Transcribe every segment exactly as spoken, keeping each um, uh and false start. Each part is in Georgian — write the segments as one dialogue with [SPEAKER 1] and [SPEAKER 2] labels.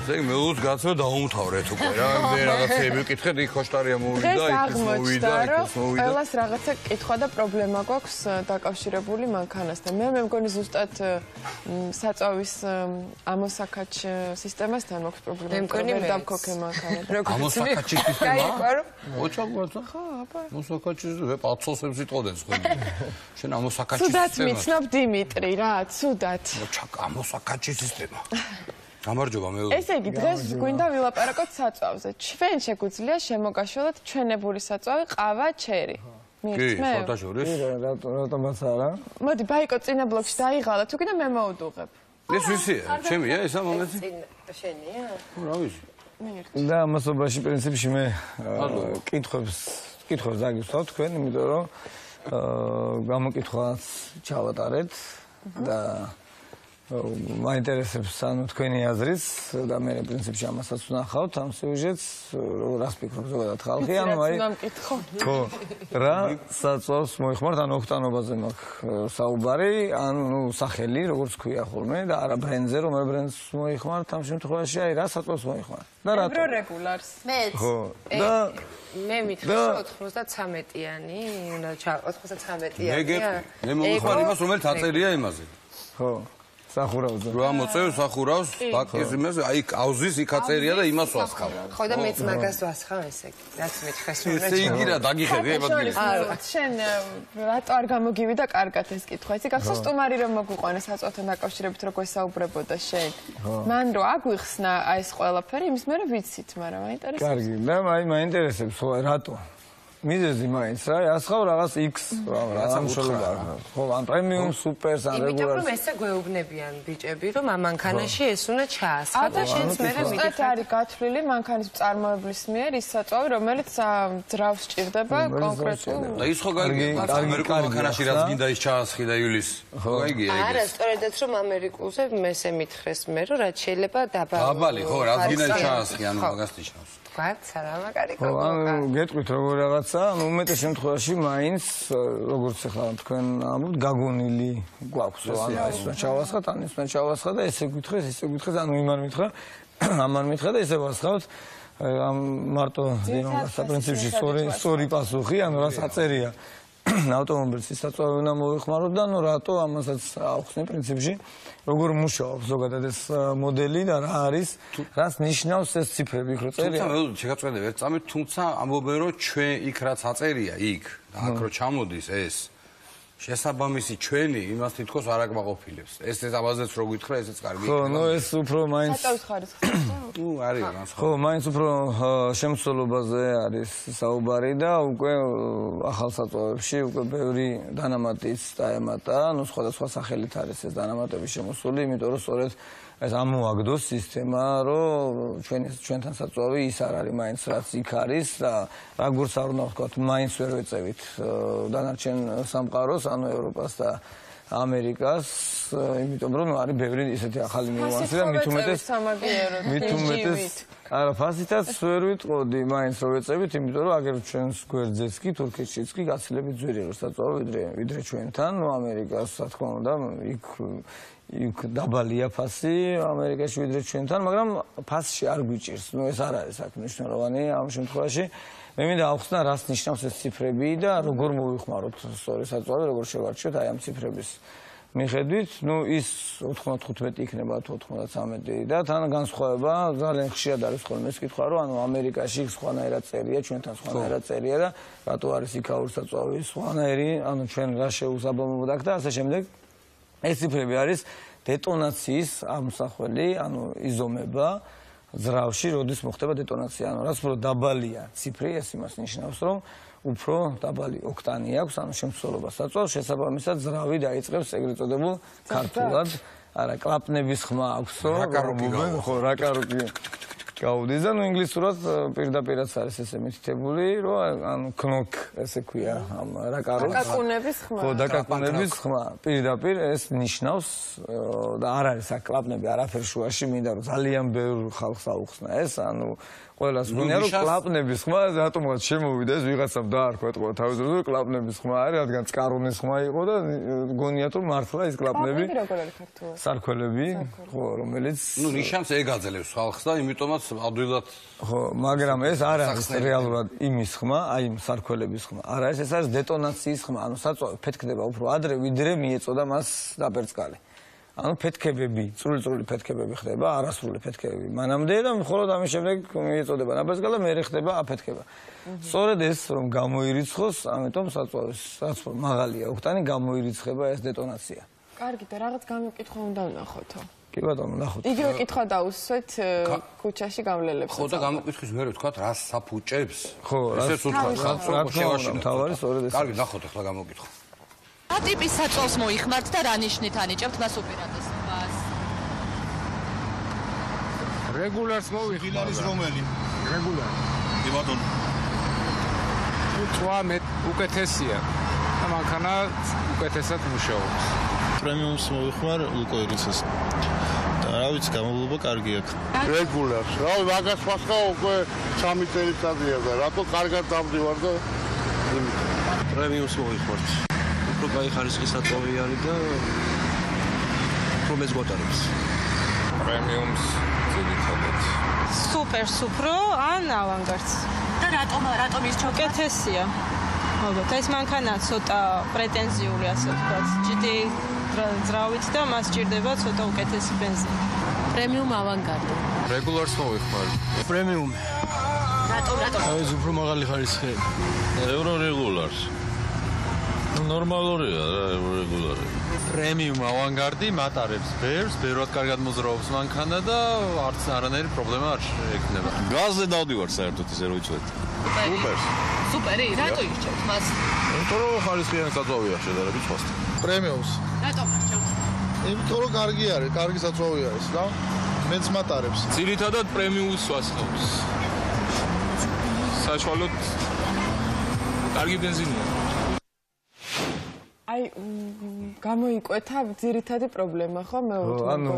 [SPEAKER 1] ზეგ მეუს გაცო დაუმთავრეთ უკვე რა მე რაღაცები ვკითხეთ იქ ხოშტარია მოვიდა იქ მოვიდა იქ მოვიდა
[SPEAKER 2] ყველას რაღაცა კითხვა და პრობლემა გვაქვს დაკავშირებული მანქანასთან მე მე მგონი ზუსტად საწვავის ამოსაკაჩ სისტემასთან მაქვს პრობლემა
[SPEAKER 3] მე მგონი მე
[SPEAKER 2] დავქოქე მანქანა
[SPEAKER 1] ამოსაკაჩის სისტემა ოჩა გვაცა
[SPEAKER 2] ხო აბა
[SPEAKER 1] ამოსაკაჩის ვე პაცოსებს იტყოდნენ სხვა შენ ამოსაკაჩის
[SPEAKER 2] სუდაც მიცნობ დიმიტრი რა სუდაც
[SPEAKER 1] ოჩა ამოსაკაჩის სისტემა გამარჯობა მე
[SPEAKER 2] ესე იგი დღეს გვინდა ვილაპარაკოთ საწვავზე ჩვენ შეგვიძლია შემოგაშველოთ ჩვენებული საწვავი ყავა ჩერი
[SPEAKER 1] მიირთმევ კი ფოტოშორის
[SPEAKER 4] რატომაც არა
[SPEAKER 2] მოდი ბაიკო წინა ბლოკში დაიღალა თუ კიდე მე მოვუდუღებ
[SPEAKER 1] ეს ვისია ჩემია ესა მომენტი
[SPEAKER 3] შენია
[SPEAKER 1] რა ვიცი
[SPEAKER 4] და ამასობაში პრინციპში მე კითხვებს კითხვებს დაგისვავ თქვენ იმიტომ რომ გამოკითხვას ჩავატარეთ და მაინტერესებს ანუ თქვენი აზრიც და მე პრინციპში ამასაც ვნახავთ ამ სიუჟეტს რას ფიქრობ ზოგადად ხალხი ანუ აი ხო რა საწვავს მოიხმართ ანუ ოქტანობაზე მაქვს საუბარი ანუ ნუ სახელი როგორც ქვია ხოლმე და არა ბრენდზე რომ ბრენდს მოიხმართ ამ შემთხვევაში აი რა საწვავს მოიხმართ და რა
[SPEAKER 2] ევრო რეგულარს
[SPEAKER 3] მე
[SPEAKER 4] ხო და
[SPEAKER 3] მე მითხრა ოთხმოცდათრამეტიანი უნდა ჩა ოთხმოცდათრამეტიანი
[SPEAKER 1] მე მოიხმარ იმას რომელიც აწერია იმაზე
[SPEAKER 4] ხო სახურავზე
[SPEAKER 1] რა მოწევ სახურავს ბაკის იმას აი კაუზის იქ აწერია და იმას ვასხავ
[SPEAKER 3] ხო და მეც მაგას ვასხავ ესე იგი რაც მეთქეს რომ
[SPEAKER 1] ესე იგი რა დაგიხედე
[SPEAKER 2] არა შენ რატო არ გამოგივიდა კარგად ეს კითხვა იცი გახსოვს სტუმარი რომ მოგვიყვანა საწვავთან დაკავშირებით როგორ ესაუბრებოდა შენ მან რო აგვიხსნა აი ეს ყველაფერი იმის მერე ვიცით მაგრამ მაინტერესებს
[SPEAKER 4] კარგი და აი მაინტერესებს რატო მიზეზი მაინც რა ასხავ რაღაც X რა სამშობლოა ხო ან პრემიუმ სუპერს ან რეგულარს
[SPEAKER 3] იმიტომ რომ ესე გვეუბნებიან ბიჭები რომ ამ მანქანაში ეს უნდა ჩაასხა და შენც მერე
[SPEAKER 2] მიდიხარ არის გათვლილი მანქანის მწარმოებლის მიერ ის საწვავი რომელიც ძრავს სჭირდება კონკრეტულ
[SPEAKER 1] და ის ხო კარგი ამერიკულ მანქანაში რაც გინდა ის ჩაასხი და იulis ხო გაიგია ეგ
[SPEAKER 3] არა სწორედაც რომ ამერიკულზე მესე მითხრეს მე რომ რაც შეიძლება დაბალი
[SPEAKER 1] დაბალი ხო რაც გინდა ჩაასხი ანუ მაგას ნიშნავს
[SPEAKER 3] ვარც არა მაგარი
[SPEAKER 4] ხო ანუ გეტყვით როგორ რაღაცა ანუ უმეტეს შემთხვევაში მაინც როგორც ახლა თქვენ ამბობთ გაგონილი გვაქვს ანუ ეს უნდა ჩავასხათ ან ეს უნდა ჩავასხა და ესე გითხეს ესე გითხეს ანუ იმან მითხრა ამან მითხრა და ესე ვასხავთ ამ მარტო დინომას პრინციპში სწორი სწორი პასუხი ანუ რაც აწერია ავტომობილს ის საწვავი უნდა მოიხმაროთ და ნუ რატო ამასაც ახსნე პრინციპში როგორ მუშაობს ზოგადად ეს მოდელი და რა არის რას ნიშნავს ეს ციფრები იქ რო წერია
[SPEAKER 1] თუმცა შეგაწყვეტე ვერ წამით თუმცა ამბობენ რომ ჩვენ იქ რაც აწერია იქ აქ რო ჩამოდის ეს შესაბამისი ჩვენი იმას თითქოს არ აკმაყოფილებს ეს ეს ამაზეც რო გითხრა ესეც კარგი
[SPEAKER 4] ხო ნუ ეს უფრო მაინც
[SPEAKER 2] საწავის ხარისხი
[SPEAKER 1] ნუ არის განსხვავება
[SPEAKER 4] ხო მაინც უფრო შემცველობაზე არის საუბარი და უკვე ახალ საწვავებში უკვე ბევრი დანამატის დაემატა ნუ სხვადასხვა სახელით არის ეს დანამატები შემოსული იმიტომ რომ სწორედ ეს ამოაგდოს სისტემა რომ ჩვენი ჩვენთან საწვავი ის არ არის მაინც რაც იქ არის და როგორც არ უნდა ვთქვათ მაინც ვერ ვეწევით დანარჩენ სამყაროს ანუ ევროპას და ამერიკას იმიტომ რომ არის ბევრი ისეთი ახალი ნიუანსი და მით უმეტეს მით უმეტეს არა ფასითაც ვერ ვიტყოდი მაინც რომ ვეწევით იმიტომ რომ აგერ ჩვენს გვერდზეც კი თურქეთშიც კი გაცილებით ძვირი რო საწვავი ვიდრე ვიდრე ჩვენთან ნუ ამერიკას რა თქმა უნდა იქ იქ დაბალია ფასი ამერიკაში ვიდრე ჩვენთან მაგრამ ფასში არ გვიჭირს ნუ ეს არ არის აქ მნიშვნელოვანი ამ შემთხვევაში მე მინდა ავხსნა რას ნიშნავს ეს ციფრები და როგორ მოვიხმაროთ სწორი საწვავი როგორ შევარჩიოთ აი ამ ციფრების მიხედვით ნუ ის ოთხმოცდახუთმეტი იქნება თუ ოთხმოცდათრამეტი და თან განსხვავება ძალიან ხშირად არის ხოლმე ეს კითხვა რომ ანუ ამერიკაში სხვანაირად წერია ჩვენთან სხვანაირად წერია და რატო არის იქაური საწვავი სხვანაირი ანუ ჩვენ რა შეუსაბამობოდ აქ და ასე შემდეგ ეს ციფრები არის დეტონაციის ამსახველი ანუ იზომება ძრავში როდის მოხდება დეტონაცია ანუ რაც უფრო დაბალია ციფრი ეს იმას ნიშნავს რომ უფრო დაბალი ოქტანი აქვს ანუ შემცველობა საწვავს შესაბამისად ძრავი დაიწყებს ეგრეთ წოდებულ ქართულად არა კლაპნების ხმა აქვსო
[SPEAKER 1] რაკაროკი
[SPEAKER 4] ხო რაკაროკი გაუდის და ნუ ინგლისურად პირდაპირაც არის ესე მითითებული, რომ ანუ knock ესე ქვია ამ რაკაროს.
[SPEAKER 2] დაკაკუნების ხმა.
[SPEAKER 4] ხო, დაკაკუნების ხმა. პირდაპირ ეს ნიშნავს და არ არის აქ კლაპნები არაფერ შუაში, მინდა რომ ძალიან ბევრ ხალხს აუხსნა ეს, ანუ ყველას გვინდა რომ კლაპნების ხმა რატომღაც შემოვიდა ეს ვიღაცამ დაარქვა ეთქვა თავის დროზე კლაპნების ხმა არის, რადგან წყარონის ხმა იყო და გონიათ რომ მართლა ეს კლაპნები
[SPEAKER 2] როგორ არის ქართულად?
[SPEAKER 4] სარქველები, ხო, რომელიც
[SPEAKER 1] ნუ ნიშანს ეგაძლევს ხალხს და იმიტომაც ადვილად
[SPEAKER 4] ხო, მაგრამ ეს არ არის რეალურად იმის ხმა, აი იმ სარქველების ხმა. არ არის, ეს არის დეტონაციის ხმა, ანუ საწვავი ფეთქდება უფრო ადრე, ვიდრე მიეწოდა მას დაპერწკალი. ანუ ფეთქებები, წვრილი-წვრილი ფეთქებები ხდება, არასრული ფეთქებები. მანამდე და მხოლოდ ამის შემდეგ მიეწოდება დაპერწკალი და მერე ხდება აფეთქება. სწორედ ეს რომ გამოირიცხოს, ამიტომ საწვავის საწვავ მაღალია ოქტანი, გამოირიცხება ეს დეტონაცია.
[SPEAKER 2] კარგი და რაღაც გამოკითხვა უნდა ვნახოთო.
[SPEAKER 4] კი ბატონო, ნახოთ.
[SPEAKER 2] იგივე კითხვა დავუსვეთ ქუჩაში გავლელებს.
[SPEAKER 1] ხო და გამოკითხვის მერე ვთქვა რას საფუჭებს?
[SPEAKER 4] ხო,
[SPEAKER 1] ესეც უთხრა ხალხს რომ შევაშინოთ.
[SPEAKER 4] თავარი სწორედ ეს.
[SPEAKER 1] კარგი, ნახოთ ახლა გამოკითხვა.
[SPEAKER 5] რა ტიპის საწვავს მოიხმართ და რა ნიშნით ანიჭებთ მას ოპერატორს?
[SPEAKER 6] რეგულარს მოიხმართ.
[SPEAKER 7] ის რომელი?
[SPEAKER 6] რეგულარი.
[SPEAKER 7] კი ბატონო.
[SPEAKER 6] უცხოა მე უკეთესია. და მანქანა უკეთესად მუშაობს.
[SPEAKER 7] პრემიუმს მოიხმარ ლუკოირიცას. და რა ვიცი, გამოვლობა კარგი აქვს.
[SPEAKER 8] რეგულარს. რავი, მაგას ფასკა უკვე სამი წელიწადია და რატო კარგად დავდივარ და
[SPEAKER 9] პრემიუმს მოიხმართ. უფრო კაი ხარისხის საწვავი არის და უფრო მეც გვატარებს.
[SPEAKER 6] პრემიუმს ძირითადად.
[SPEAKER 10] სუპერ სუფრო ან ავანგარდს.
[SPEAKER 5] და რატომ რატომ ის
[SPEAKER 10] უკეთესია. ალბათ ეს მანქანა ცოტა პრეტენზიული ასე ვთქვათ. ჯიდი ძრავით და მას ჭირდება ცოტა უკეთესი ბენზინი.
[SPEAKER 5] პრემიუმ ავანგარდი.
[SPEAKER 6] რეგულარს მოიხმართ.
[SPEAKER 7] პრემიუმი.
[SPEAKER 5] რატომ რატომ?
[SPEAKER 7] ეს უფრო მაღალი ხარისხი. ევრო რეგულარს. ნორმალურია რა, რეგულარი.
[SPEAKER 6] პრემიუმ ავანგარდი მატარებს ბევრს, ბევრად კარგად მოძრაობს მანქანა და არც არანაირი პრობლემა არ ექნება.
[SPEAKER 7] გაზზე დავდივარ საერთოდ ისე რომ იცოდეთ.
[SPEAKER 5] სუპერი. სუპერი, რატო ირჩევთ მას?
[SPEAKER 7] იმიტომ რომ ხარისხიანი საწვავია შედარებით სხვასთან. პრემიუმს.
[SPEAKER 5] რატომ არჩევთ?
[SPEAKER 7] იმიტომ რომ კარგი არის, კარგი საწვავი არის და მეც მატარებს.
[SPEAKER 6] ძირითადად პრემიუმს ვასხავს. საშუალოდ კარგი ბენზინია.
[SPEAKER 2] აი გამოიკვეთა ძირითადი პრობლემა ხო მეუთხე.
[SPEAKER 4] ანუ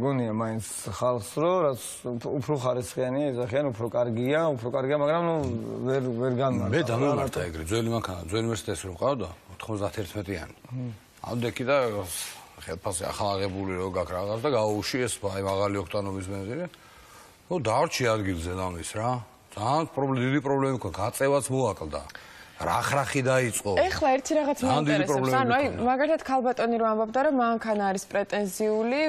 [SPEAKER 4] გონია მაინც ხალხს რომ რაც უფრო ხარისხიანია, ეძახიან უფრო კარგია, უფრო კარგია, მაგრამ ნუ ვერ ვერ განმარტა.
[SPEAKER 1] მე დამემართა ეგრე ძველი მანქანა, ძველი მერსედესი რომ ყავდა ოთხმოცდაათი-იანი. ავდექი და ხელფასი ახალ აღებული რო გაქვს რაღაც და გაუში ეს აი მაღალი ოქტანობის ბენზინი. ნუ დაარჩი ადგილზე დამის რა. ძალიან პრობლემა, დიდი პრობლემა იყო, გაწევაც მოაკლდა. რახ-რახი დაიწყო.
[SPEAKER 2] ეხლა ერთი რაღაც მეინტერესებს. ანუ აი მაგალითად ქალბატონი რომ ამბობდა რომ მანქანა არის პრეტენზიული,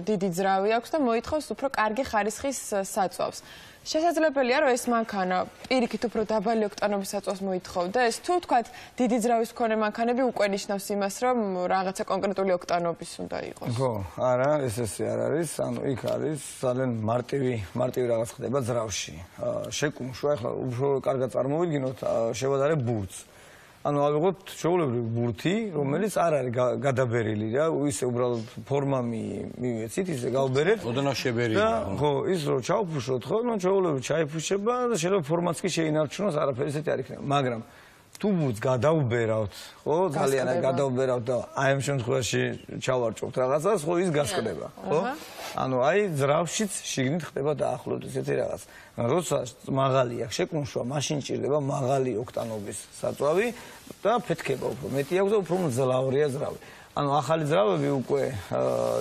[SPEAKER 2] დიდი ძრავი აქვს და მოითხოვს უფრო კარგი ხარისხის საწვავს. შესაძლებელია რომ ეს მანქანა პირიქით უფრო დაბალი ოქტანობის საწვავს მოითხოვდა. ეს თუ თქვათ დიდი ძრავის მქონე მანქანები უკვე ნიშნავს იმას რომ რაღაცა კონკრეტული ოქტანობის უნდა იყოს.
[SPEAKER 4] ხო, არა, ეს ესე არ არის. ანუ იქ არის ძალიან მარტივი, მარტივი რაღაც ხდება ძრავში. შეკუმშვა, ახლა უფრო კარგად წარმოვიდგინოთ, შევადარებ ბურთს. ანუ ალბათ შეულებრივი ბურთი, რომელიც არ არის გადაბერილი რა, ისე უბრალოდ ფორმა მივეცით, ისე გავბერეთ.
[SPEAKER 1] ოდნავ შებერილია.
[SPEAKER 4] ხო, ის რო ჩავფუშოთ, ხო, ნუ შეულებრივი ჩაიფუშება და შეიძლება ფორმაც კი შეინარჩუნოს, არაფერი ისეთი არ იქნება. მაგრამ თუ ბურთს გადავბერავთ, ხო, ძალიან გადავბერავთ და აი ამ შემთხვევაში ჩავარჭობთ რაღაცას, ხო, ის გასკდება, ხო? ანუ აი ძრავშიც შიგნით ხდება დაახლოებით ესეთი რაღაც. როცა მაღალი აქვს შეკუმშვა, მაშინ ჭირდება მაღალი ოქტანობის საწვავი და ფეთქება უფრო მეტი აქვს და უფრო მძლავრია ძრავი. ანუ ახალი ძრავები უკვე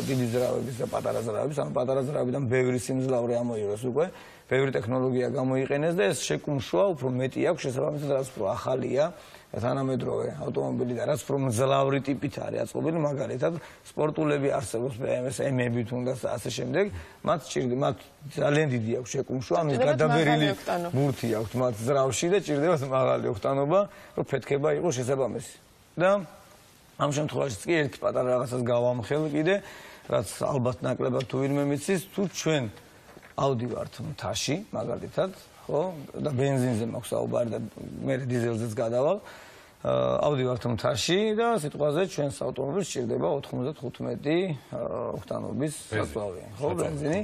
[SPEAKER 4] დიდი ძრავების და პატარა ძრავების, ანუ პატარა ძრავებიდან ბევრი სიმძლავრე ამოიღეს უკვე, ბევრი ტექნოლოგია გამოიყენეს და ეს შეკუმშვა უფრო მეტი აქვს შესაბამისად, რაც უფრო ახალია. თანამედროვე ავტომობილი და რაც უფრო მძლავრი ტიპით არის აწყობილი, მაგალითად სპორტულები არსებობს ბე ემ ws ემები თუნდაც და ასე შემდეგ, მათ ჭირდება, მათ ძალიან დიდი აქვს შეკუმშვა, ანუ გადაბერილი ბურთი აქვს მათ ძრავში და ჭირდება მაღალი ოქტანობა, რომ ფეთქება იყოს შესაბამისი. და ამ შემთხვევაში კი ერთ პატარა რაღაცას გავამხელ კიდე, რაც ალბათ ნაკლებად თუ ვინმე მიცის, თუ ჩვენ ავდივართ მთაში, მაგალითად, ხო, და ბენზინზე მაქვს საუბარი და მე დიზელზეც გადავალ. ავდივართ მთაში და სიტყვაზე ჩვენს ავტომობილს ჭირდება ოთხმოცდათხუთმეტი ოქტანობის საწვავი. ხო, ბენზინი.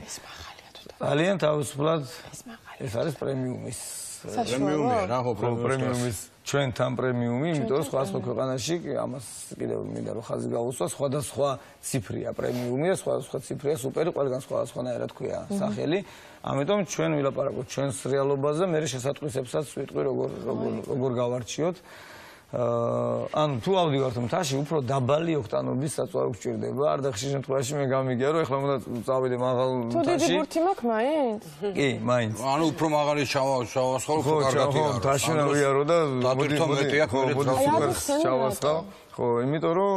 [SPEAKER 4] ძალიან თავისუფლად ეს არის პრემიუმის
[SPEAKER 1] პრემიუმია რა ხო
[SPEAKER 4] პრემიუმის ჩვენთან პრემიუმი, იმიტომ რომ სხვა სხვა ქვეყანაში ამას კიდევ მინდა რომ ხაზი გაუსვა, სხვადასხვა ციფრია პრემიუმია, სხვადასხვა ციფრია სუპერი, ყველგან სხვადასხვანაირად ქვია სახელი. ამიტომ ჩვენ ვილაპარაკოთ ჩვენს რეალობაზე, მე შესატყვისებსაც ვიტყვი როგორ როგორ გავარჩიოთ. ანუ თუ ავდივართ მთაში, უფრო დაბალი ოქტანობის საწვავი გვჭირდება. არ და ხშირ შემთხვევაში მე გამიგია რომ ეხლა უნდა წავიდე მაღალ მთაში.
[SPEAKER 2] თუ დიდი ბურთი მაქვს მაინც?
[SPEAKER 4] კი, მაინც.
[SPEAKER 1] ანუ უფრო მაღალი ჩავასხო, უფრო კარგად
[SPEAKER 4] იარო. ხო, მთაში ვიარო და
[SPEAKER 1] მოდი მეტი აქ
[SPEAKER 4] მოდი სუპერ ჩავასხო. ხო, იმიტომ რომ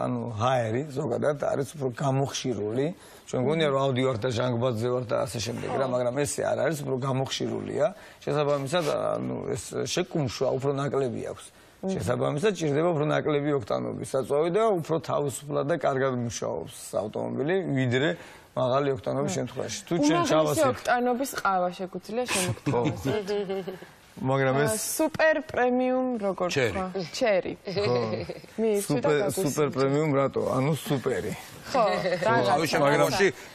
[SPEAKER 4] ანუ ჰაერი ზოგადად არის უფრო გამოხშირული. ჩვენ გონია რომ ავდივართ და ჟანგბადზე ვართ და ასე შემდეგ რა, მაგრამ ესე არ არის, უფრო გამოხშირულია. შესაბამისად, ანუ ეს შეკუმშვა უფრო ნაკლები აქვს. შესაბამისად, ჭირდება უფრო ნაკლები ოქტანობის საწვავი და უფრო თავისუფლად და კარგად მუშაობს ავტომობილი, ვიდრე მაღალი ოქტანობის შემთხვევაში. თუ ჩვენ ჩავასხეთ
[SPEAKER 2] ოქტანობის ყავა შეგვიძლია შემოგთავაზოთ.
[SPEAKER 4] მაგრამ ეს
[SPEAKER 2] სუპერ პრემიუმ როგორ თქვა? ჩერი. ხო.
[SPEAKER 4] სუპერ სუპერ პრემიუმ რატო? ანუ სუპერი.
[SPEAKER 2] ხო,
[SPEAKER 1] რაღაცა. მაგრამ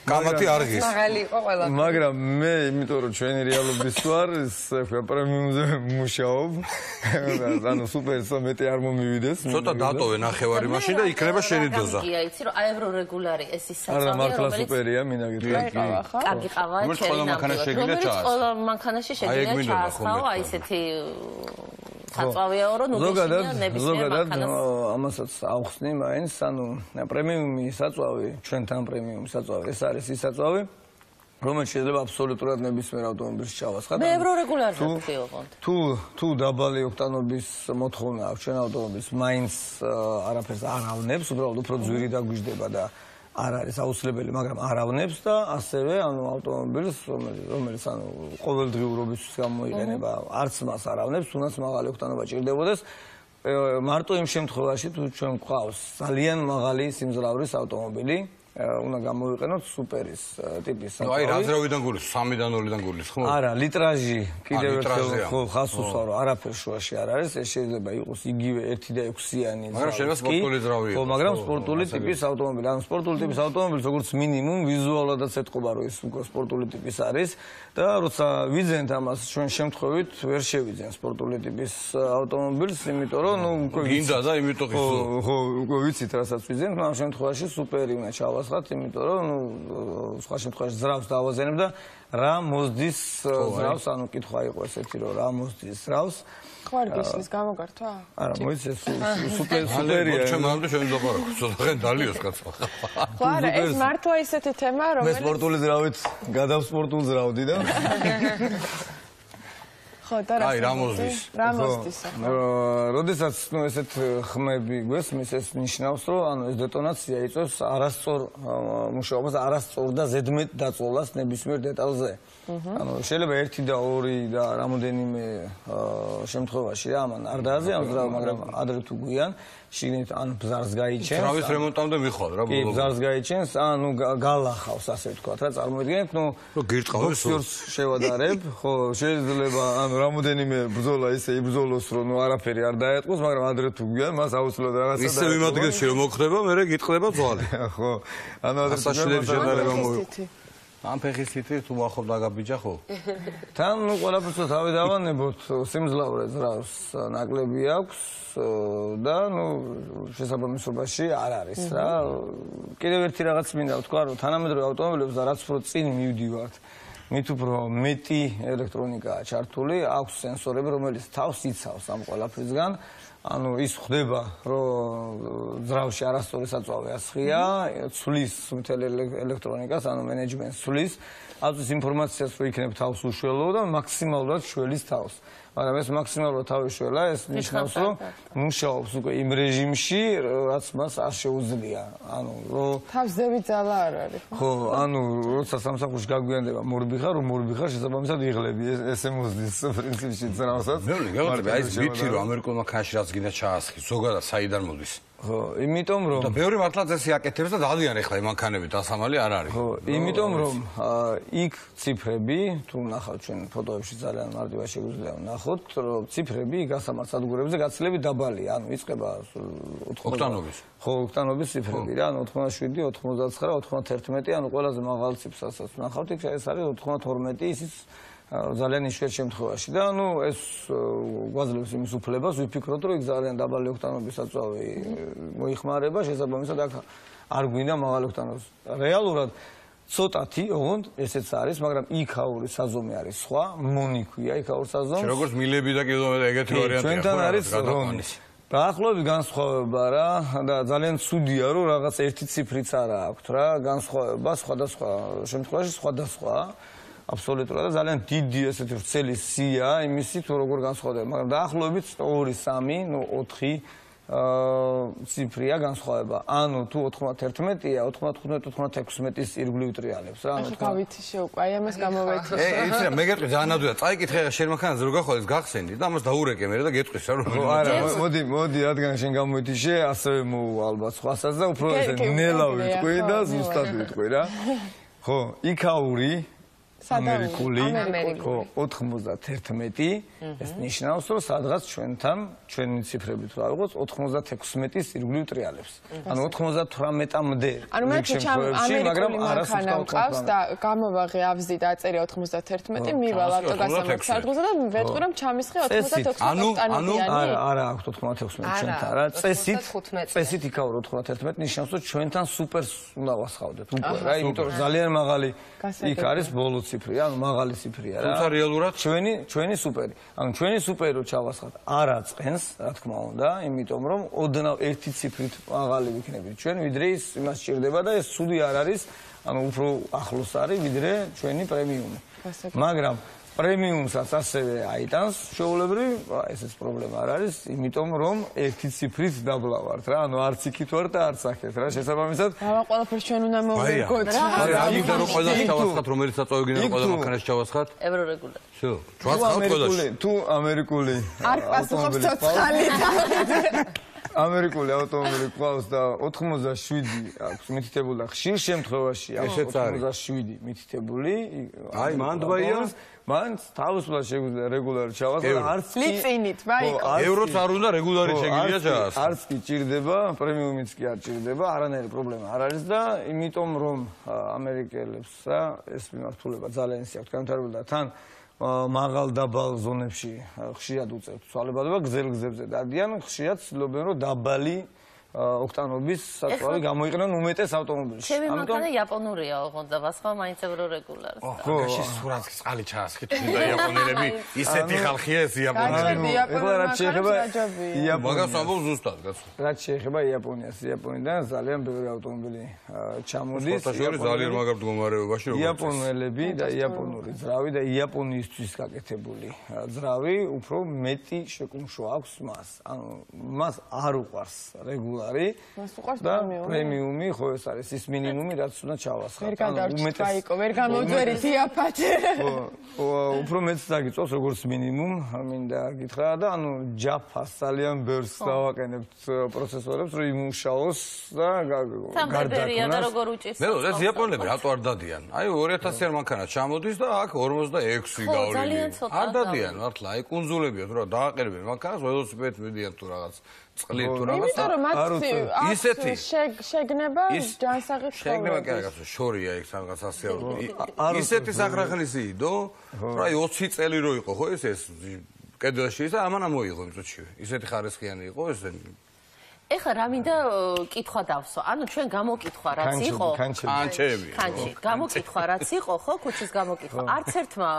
[SPEAKER 1] გამათი არ ღირს.
[SPEAKER 3] მაღალი იყო ყველა.
[SPEAKER 4] მაგრამ მე, იმიტომ რომ ჩვენი რეალობის ვარ, ეს პრემიუმზე მუშაობ. ანუ სუპერსა მეტი არ მომივიდეს.
[SPEAKER 1] ცოტა დატოვე ნახევარი მაშინ და იქნება შენი დოზა.
[SPEAKER 11] კი, იცი რომ აევრორეგულარი ეს ის
[SPEAKER 4] საწავია, რომელიც არა მართლა სუპერია, მინდა გითხრათ.
[SPEAKER 11] კარგი ყავა, ჩერი ნამტვი. რომელიც ყველა მანქანაში შეგიძლია ჩაასხაო, აი ესეთი საწავია რომ ნუ
[SPEAKER 4] ზოგადად ზოგადად ამასაც ავხსნი მაინც, ანუ პრემიუმი საწავი, ჩვენთან პრემიუმი საწავი, ეს არის ის საწავი, რომელიც შეიძლება აბსოლუტურად ნებისმიერ ავტომობილს ჩავასხათ.
[SPEAKER 11] მე ევრორეგულარად ვთქვი ოღონდ.
[SPEAKER 4] თუ თუ დაბალი ოქტანობის მოთხოვნა აქვს ჩვენ ავტომობილს, მაინც არაფერს არ ავნებს, უბრალოდ უფრო ძვირი დაგვიждდება და არ არის აუცილებელი, მაგრამ არ ავნებს და ასევე ანუ ავტომობილს, რომელიც ანუ ყოველდღიურობისთვის გამოიყენება, არც მას არ ავნებს, თუნდაც მაღალი ოქტანობა ჭირდებოდეს. მარტო იმ შემთხვევაში, თუ ჩვენ გვყავს ძალიან მაღალი სიმძლავრის ავტომობილი, უნდა გამოვიყენოთ სუპერის ტიპის
[SPEAKER 1] საწავი. აი, რაზრავიდან გულის, სამიდან ნულიდან გულის, ხო?
[SPEAKER 4] არა, litraჟი კიდევ ერთხელ ხო ხას უსვარო, არაფერ შუაში არ არის, ეს შეიძლება იყოს იგივე ერთი და ექვსიანი.
[SPEAKER 1] მაგრამ შეიძლება სპორტული ძრავი იყოს.
[SPEAKER 4] ხო, მაგრამ სპორტული ტიპის ავტომობილი, ანუ სპორტული ტიპის ავტომობილს როგორც მინიმუმ ვიზუალადაც ეთყობა, რომ ეს უკვე სპორტული ტიპის არის და როცა ვიძენთ ამას ჩვენ შემთხვევით ვერ შევიძენ სპორტული ტიპის ავტომობილს, იმიტომ რომ ნუ უკვე
[SPEAKER 1] გინდა და იმიტომ ხისო.
[SPEAKER 4] ხო, უკვე ვიცით რასაც ვიძენთ, ამ შემთხვევაში სუპერი უნდა ჩავასხათ, იმიტომ რომ ნუ სხვა შემთხვევაში ძრავს დავაზენებ და რა მოსდის ძრავს, ანუ კითხვა იყო ესეთი რომ რა მოსდის ძრავს.
[SPEAKER 2] ხო არ გისლის გამოგართვა?
[SPEAKER 4] არა, მოიცეს სუპერ სუპერია.
[SPEAKER 1] ჩვენ მანდ ჩვენ დავარქო, ცოტა ხენ დალიოს კაცო.
[SPEAKER 2] ხო არა, ეს მართლა ისეთი თემა რომელიც
[SPEAKER 4] მე სპორტული ძრავით გადავ სპორტულ ძრავდი და
[SPEAKER 2] ხო და რა
[SPEAKER 1] აი რა მოსდის?
[SPEAKER 2] რა მოსდის?
[SPEAKER 4] როდესაც ნუ ესეთ ხმები გვესმის, ეს ნიშნავს რომ ანუ ეს დეტონაცია იწვევს არასწორ მუშაობას, არასწორ და ზედმეტ დაწოლას ნებისმიერ დეტალზე. ანუ შეიძლება ერთი და ორი და რამოდენიმე შემთხვევაში რა ამან არ დააზიანოს ძრავი, მაგრამ ადრე თუ გვიან შიგნით ან ბზარს გაიჩენს.
[SPEAKER 1] ძრავის რემონტამდე მიხვალ რა
[SPEAKER 4] ბოლოს. კი, ბზარს გაიჩენს, ანუ გალახავს ასე ვთქვათ რა, წარმოიდგინეთ, ნუ
[SPEAKER 1] რომ გირტყავეს
[SPEAKER 4] ბოქსერს შევადარებ, ხო, შეიძლება ანუ რამოდენიმე ბრძოლა ისე იბრძოლოს, რომ ნუ არაფერი არ დაეტყოს, მაგრამ ადრე თუ გვიან, მას აუცილებლად რაღაცა და
[SPEAKER 1] ისე მიმადგენში რომ მოხდება, მე გიტყდება ძვალი.
[SPEAKER 4] ხო. ანუ ადრე
[SPEAKER 1] საშილები შედარება მოვიყო. ამ ფეხის თითი თუ ახობ დაგაბიჯა ხო?
[SPEAKER 4] თან ნუ ყველაფერს თავი დავანებოთ, სიმძლავრე ძრავს ნაკლები აქვს და ნუ შესაბამისობაში არ არის რა. კიდევ ერთი რაღაც მინდა ვთქვა, რომ თანამედროვე ავტომობილებს და რაც უფრო წინ მივდივართ, მით უფრო მეტი ელექტრონიკაა ჩართული, აქვს სენსორები, რომელიც თავს იცავს ამ ყველაფრისგან. ანუ ის ხდება, რომ ძრავში არასწორი საწვავი ასხია, ცვლის მთელ ელექტრონიკას, ანუ მენეჯმენტს ცვლის, აწვის ინფორმაციას, რომ იქნებ თავს უშველო და მაქსიმალურად შველის თავს. მაგრამ ეს მაქსიმალურად თავი შველა, ეს ნიშნავს, რომ მუშაობს უკვე იმ რეჟიმში, რაც მას არ შეუძლია. ანუ რომ
[SPEAKER 2] თავზევი ძალა არ არის.
[SPEAKER 4] ხო, ანუ როცა სამსახურში გაგვიანდება მორბიხა, რომ მორბიხა შესაბამისად იღლები, ესე მოსდის პრინციპში ძრავსაც.
[SPEAKER 1] მე მგონი, აი ეს ვითი რომ ამერიკულმა ქანში რაც გინდა ჩაასხი, ზოგადად საიდან მოდის?
[SPEAKER 4] ხო, იმიტომ რომ
[SPEAKER 1] და ბევრი მართლა წესი აკეთებს და ძალიან ეხლა მანქანები დასამალი არ არის.
[SPEAKER 4] ხო, იმიტომ რომ იქ ციფრები, თუ ნახავთ ჩვენ ფოტოებში ძალიან მარტივად შეგვიძლია ვნახოთ, რომ ციფრები გასამართ სადგურებზე გაცილებით დაბალია, ანუ იწყება
[SPEAKER 1] ოქტანობის.
[SPEAKER 4] ხო, ოქტანობის ციფრები რა, ანუ ოთხმოცდაშვიდი, ოცდათხმეტი, ოცდაათერთმეტი, ანუ ყველაზე მაღალი ციფრსაც ვნახავთ, იქ ეს არის ოცდათორმეტი, ისიც ძალიან იშვიათ შემთხვევაში და ანუ ეს გვაძლევს იმის უფლებას ვიფიქროთ რომ იქ ძალიან დაბალი ოქტანობის საწვავი მოიხმარება შესაბამისად აქ არ გვინდა მაღალი ოქტანობის რეალურად ცოტათი ოღონდ ესეც არის მაგრამ იქაური საზომი არის სხვა მონიქვია იქაურ საზომს
[SPEAKER 1] როგორც მილები და კილომეტრები ეგეთი ვარიანტია
[SPEAKER 4] ჩვენთან არის რონი დაახლოებით განსხვავება რა და ძალიან ცუდია რომ რაღაც ერთი ციფრიც არ აქვს რა განსხვავება სხვადასხვა შემთხვევაში სხვადასხვა აბსოლუტურად ძალიან დიდი ესეთი ვრცელი სია იმისი თუ როგორ განსხვავდება მაგრამ დაახლოებით ორი სამი ნუ ოთხი ციფრია განსხვავება ანუ თუ ოთხმოცდაერთმეტია ოთხმოცდათხუთმეტი ოთხმოცდაექვსმეტის ირგვლივ ტრიალებს რა ანუ
[SPEAKER 2] თქვა გავითიშე უკვე აი ამას გამოვეთიშე
[SPEAKER 1] ე იცი რა მე გეტყვი ძალიან ადვილია წაიკითხე რა შენ მანქანაზე რო გახვალეს გახსენდი და ამას დაურეკე მე და გეტყვის რა
[SPEAKER 4] რომ არა მოდი მოდი რადგან შენ გამოვითიშე ასევე მოუ ალბათ სხვასაც და უფრო ესე ნელა ვიტყვი და ზუსტად ვიტყვი რა ხო იქაური ამერიკული ხო ოთხმოცდაათერთმეტი ეს ნიშნავს რომ სადღაც ჩვენთან ჩვენი ციფრებით რა ვიყოს ოთხმოცდაექვსმეტის ირგვლივ ტრიალებს ანუ ოთხმოცდათვრამეტამდე
[SPEAKER 2] ანუ მე ჩემში მაგრამ არასოდეს ყავს და გამოვაღე ავზი და აწერია ოთხმოცდაათერთმეტი მივალ ავტოგასამართ სადგურზე და ვეთქვი რომ ჩამისხე ოთხმოცდაექვსმეტი
[SPEAKER 1] ანუ ანუ
[SPEAKER 4] არა არა აქვს ოთხმოცდაექვსმეტი ჩვენთან რა წესით წესით იქაურ ოთხმოცდაათერთმეტი ნიშნავს რომ ჩვენთან სუპერს უნდა ვასხავდეთ უკვე რა იმიტომ რომ ძალიან მაღალი იქ არის ბოლო ციფრი, ანუ მაღალი ციფრია რა.
[SPEAKER 1] თუმცა რეალურად
[SPEAKER 4] ჩვენი ჩვენი სუპერი. ანუ ჩვენი სუპერი რო ჩავასხათ, არ აწყენს, რა თქმა უნდა, იმიტომ რომ ოდნავ ერთი ციფრით მაღალი ვიქნებით ჩვენ, ვიდრე ის იმას სჭირდება და ეს ცუდი არ არის, ანუ უფრო ახლოს არის ვიდრე ჩვენი პრემიუმი. მაგრამ პრემიუმსაც ასევე აიტანს შეულებრივ, ესეც პრობლემა არ არის, იმიტომ რომ ერთი ციფრით დაბლა ვართ რა, ანუ არც იქით ვარ და არც აქეთ რა, შესაბამისად.
[SPEAKER 2] რა ყველაფერს ჩვენ უნდა მოვიგოთ რა.
[SPEAKER 1] აი და რო ყველას ჩავასხათ, რომელიც საწვავი გინდა ყველა მანქანაში ჩავასხათ.
[SPEAKER 11] ევრორეგულარი.
[SPEAKER 1] შო, ჩავასხათ ყველაში.
[SPEAKER 4] თუ ამერიკული
[SPEAKER 2] არ პასუხობს ცოცხალი.
[SPEAKER 4] ამერიკული ავტომობილი ყავს და ოთხმოცდაშვიდი აქვს მითითებული და ხშირ შემთხვევაში
[SPEAKER 1] ესეც არის
[SPEAKER 4] ოცდაშვიდი მითითებული
[SPEAKER 1] აი მან დბაია
[SPEAKER 4] მან თავისუფლად შეგვიძლია რეგულარი ჩავასხო არც
[SPEAKER 2] კი ლიცინით ვაიკო
[SPEAKER 1] ევროც არ უნდა რეგულარი შეგიძლია ჩაასხო
[SPEAKER 4] არც კი ჭირდება პრემიუმიც კი არ ჭირდება არანაირი პრობლემა არ არის და იმიტომ რომ ამერიკელებს რა ეს მიმართულება ძალიან ისე აქვს განვითარებული და თან მაღალ დაბალ ზონებში ხშირად უწევთ ცვალებადობა გზელ გზებზე დადიან ხშირად ცდილობენ რომ დაბალი ოქტანობის საწვავი გამოიყენონ უმეტეს ავტომობილში.
[SPEAKER 11] ჩემი მანქანა იაპონურია, ოღონდ და სხვა მაინც ევრორეგულარს.
[SPEAKER 1] ხო, გაში სურათს წყალი ჩაასხით თუნდა იაპონელები, ისეთი ხალხია ეს იაპონელი.
[SPEAKER 4] ეხლა რაც შეეხება
[SPEAKER 1] იაპონია. მაგას ამბობ ზუსტად, კაცო.
[SPEAKER 4] რაც შეეხება იაპონიას, იაპონიიდან ძალიან ბევრი ავტომობილი ჩამოდის.
[SPEAKER 1] სპორტაშორი ძალიან მაგარ მდგომარეობაში როგორ
[SPEAKER 4] იაპონელები და იაპონური ძრავი და იაპონიისთვის გაკეთებული ძრავი უფრო მეტი შეკუმშვა აქვს მას. ანუ მას არ უყვარს რეგულარი
[SPEAKER 2] მას უყვარს
[SPEAKER 4] და პრემიუმი ხო ეს არის ის მინიმუმი რაც უნდა ჩავასხათ.
[SPEAKER 2] ვერ გადარჩით ვაიკო, ვერ გამოძვერით იაფათე.
[SPEAKER 4] ხო, უფრო მეც დაგიწევს როგორც მინიმუმ, მინდა გითხრა და ანუ ჯაფას ძალიან ბევრს დავაყენებთ პროცესორებს რომ იმუშაოს და
[SPEAKER 11] გარდაქმნას. და როგორ უჭირს.
[SPEAKER 1] მე ეს იაპონელები რატო არ დადიან? აი ორი ათასი მანქანა ჩამოდის და აქ ორმოცდაექვსი გავლილი. არ დადიან მართლა, აი კუნძულებია თუ რა დააყენებენ მანქანას ველოსიპედით მიდიან თუ რაღაც წყლით თუ რაღაც.
[SPEAKER 2] იმიტომ რომ მათ ისეთი შეგნება ჯანსაღი ცხოვრება.
[SPEAKER 1] შეგნება კი არა კაცო, შორია იქ რაღაც ასეულო. ისეთი სახრახლისი იდო, რა ოცი წელი რო იყო ხო ეს ეს კედელში და ამან ამოიღო იმ წუთშივე. ისეთი ხარისხიანი იყო ეს
[SPEAKER 11] ეხლა რა მინდა კითხვა დავსო. ანუ ჩვენ გამოკითხვა რაც იყო.
[SPEAKER 1] კანჩები.
[SPEAKER 11] კანჩი. გამოკითხვა რაც იყო, ხო, ქუჩის გამოკითხვა. არც ერთმა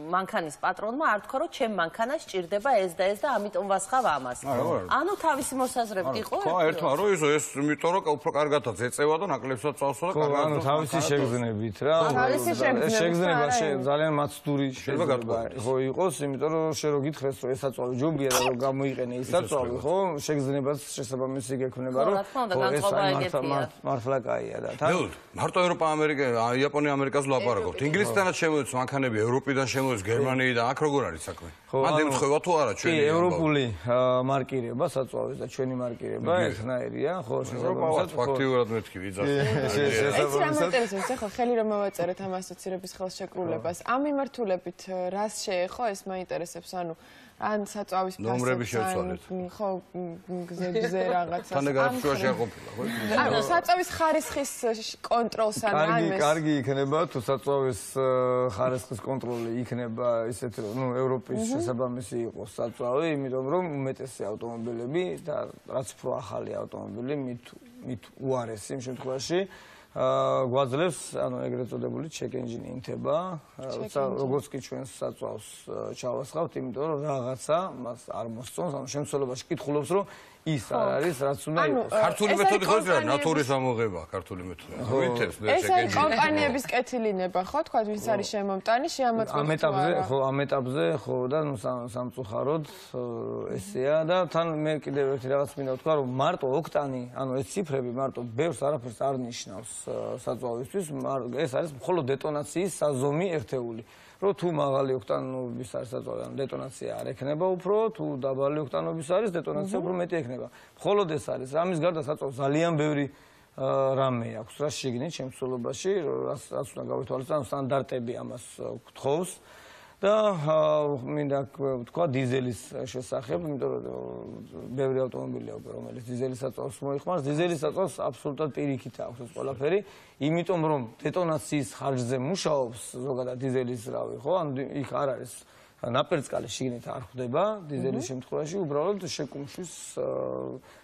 [SPEAKER 11] მანქანის პატრონმა არ თქვა, რომ ჩემ მანქანას სჭირდება ეს და ეს და ამიტომ ვასხავ ამას. ანუ თავისი მოსაზრებით იყო?
[SPEAKER 1] ხო, ერთმა რო ისო ეს იმიტომ რომ უფრო კარგადაც ეწევა და ნაკლებსაც წავსვა და
[SPEAKER 4] კარგად. ანუ თავისი შეგრძნებით რა.
[SPEAKER 2] თავისი შეგრძნებით.
[SPEAKER 4] შეგრძნება ძალიან მაცდური შეიძლება ხო იყოს, იმიტომ რომ შე რო გითხრეს რომ ეს საწვავი ჯობია და რომ გამოიყენე ის საწვავი, ხო, შეგრძნებას შესაბამისი გექნება რომ მართლა კაია და თან
[SPEAKER 1] მარტო ევროპა ამერიკა იაპონია ამერიკას ვლაპარაკობთ ინგლისთანაც შემოეც მანქანები ევროპიდან შემოეც გერმანიიდან აქ როგორ არის საქმე მან ემთხვევა თუ არა ჩვენი
[SPEAKER 4] ევროპული მარკირება საწვავის და ჩვენი მარკირება ერთნაირია ხო
[SPEAKER 1] შესაბამისად ფაქტიურად მეთქი ვიძახი
[SPEAKER 2] ეს რა მოინტერესებს ახლა ხელი რომ მოვაწერეთ ამ ასოცირების ხელშეკრულებას ამ მიმართულებით რას შეეხო ეს მაინტერესებს ანუ ან საწვავის
[SPEAKER 1] ნომრები შევცვალეთ
[SPEAKER 2] ხო გზებზე რაღაცა
[SPEAKER 1] თან გარშუაში არ ყოფილა ხო
[SPEAKER 2] ანუ საწვავის ხარისხის კონტროლს ან
[SPEAKER 4] კარგი კარგი იქნება თუ საწვავის ხარისხის კონტროლი იქნება ისეთ რომ ნუ ევროპის შესაბამისი იყოს საწვავი იმიტომ რომ უმეტესი ავტომობილები და რაც უფრო ახალი ავტომობილი მით მით უარესი იმ შემთხვევაში გვაძლევს ანუ ეგრეთ წოდებული check engine ინთება როცა როგორც კი ჩვენ საწვავს ჩავასხავთ იმიტომ რომ რაღაცა მას არ მოსწონს ანუ შემცველობაში კითხულობს რომ ის არ არის რაც უნდა იყოს
[SPEAKER 1] ქართული მეთოდი ხო ის რა ნატურის ამოღება ქართული მეთოდი ვითებს მე
[SPEAKER 2] check engine ეს კომპანიების კეთილინება ხო თქვა ვინც არის შემომტანი შეამოწმებს
[SPEAKER 4] ამ ეტაპზე ხო ამ ეტაპზე ხო და ნუ სამწუხაროდ ესეა და თან მე კიდევ ერთი რაღაც მინდა ვთქვა რომ მარტო ოქტანი ანუ ეს ციფრები მარტო ბევრს არაფერს არ ნიშნავს საწვავისთვის ეს არის მხოლოდ დეტონაციის საზომი ერთეული რომ თუ მაღალი ოქტანობის არის საწვავი ანუ დეტონაცია არ ექნება უფრო თუ დაბალი ოქტანობის არის დეტონაცია უფრო მეტი ექნება მხოლოდ ეს არის ამის გარდა საწვავს ძალიან ბევრი რამე აქვს რა შეგნით შემცველობაში რაც რაც უნდა გავითვალისწინოთ სტანდარტები ამას გთხოვს და მინდა ვთქვა დიზელის შესახებ, იმიტომ რომ ბევრი ავტომობილი აქვს, რომელიც დიზელის საწვავს მოიხმარს, დიზელის საწვავს აბსოლუტურად პირიქით აქვს ეს ყველაფერი, იმიტომ რომ დეტონაციის ხარჯზე მუშაობს ზოგადად დიზელის რავი, ხო? ანუ იქ არ არის ნაპერწკალი შიგნით არ ხვდება დიზელის შემთხვევაში, უბრალოდ შეკუმშვის